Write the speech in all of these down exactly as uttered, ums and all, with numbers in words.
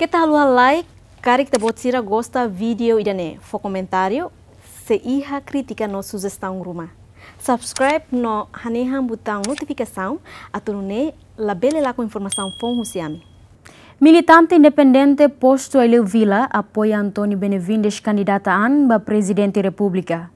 Keta haluha like, karik ita-boot sira gosta vídeo ida-ne'e, fó komentáriu, se iha krítika no sujestaun ruma. Subscribe no hanehan butaun notifikasaun, atu nune'e labele lakon informasaun foun husi ami. Militante independente postu Aileu Vila apoia António Benevides kandidata an ba Prezidente Repúblika.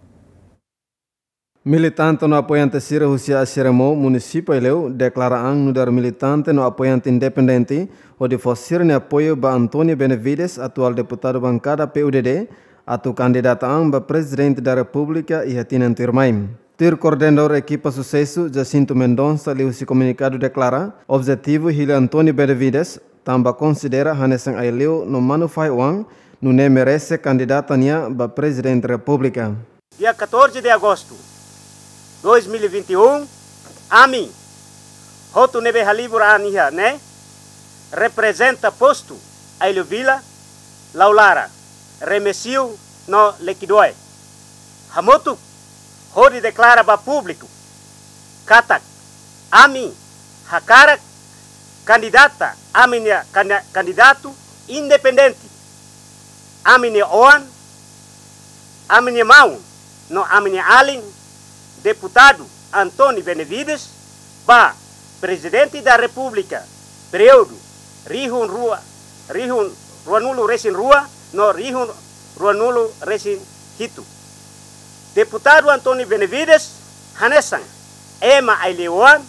Militante no apoiante sira husi Asiremo, Munisípiu Aileu, deklara an nu'udar militante no apoiante independente, hodi fó sira-nia apoiu ba António Benevides, atuál deputadu bankada P U D D, atu kandidata an ba Prezidente da Repúblika iha tinan tuirmai. Tuir koordenadór ekipa susesu, Jacinto Mendonça, liuhusi komunikadu deklara, objetivu hili António Benevides, tanba konsidera hanesan Aileu no manu-fahi-oan, nune'e merese kandidata nia ba Prezidente Repúblika. Dia catorze de agosto dois mil e vinte e um, ami hotu ne'ebé halibur an iha ne'e, reprezenta postu Aileu Vila, Laulara, Remexio no Lequidoe, hamutuk hodi deklara ba públiku katak ami hakarak kandidata, ami-nia kandi-, kandidatu independente, ami-nia oan, ami-nia maun no ami-nia alin, Deputadu António Benevides, ba Prezidente da Repúblika, períodu rihun rua, rihun ruanulu-resin-rua no rihun ruanulu-resin-hitu. Deputadu António Benevides hanesan ema Aileu-oan,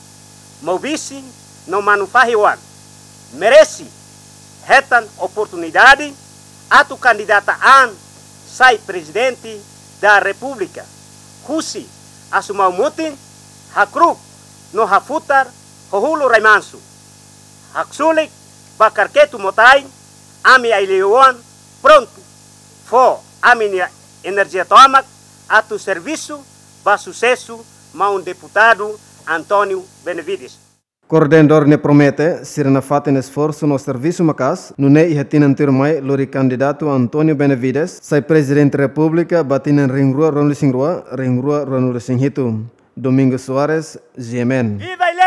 maubisi no manu-fahi-oan, merese hetan oportunidade atu kandidata an sai Prezidente da Repúblika, husi Asumau Mutin, hakru'uk no hafutar Hohulu Rai Mansu. Haksolok ba Karketu Motain, ami Aileu-oan prontu fó ami-nia enerjia tomak atu servisu ba susesu maun Deputadu António Benevides. Koordenadór ne'e promete, sira nafatin esforsu no servisu maka'as, nune'e iha tinan tuirmai lori kandidatu António Benevides sai Prezidente Repúblika ba tinan rihun rua ruanulu-resin-rua, rihun rua ruanulu-resin-hitu. Domingos Soares, G M N. Viva Aileu!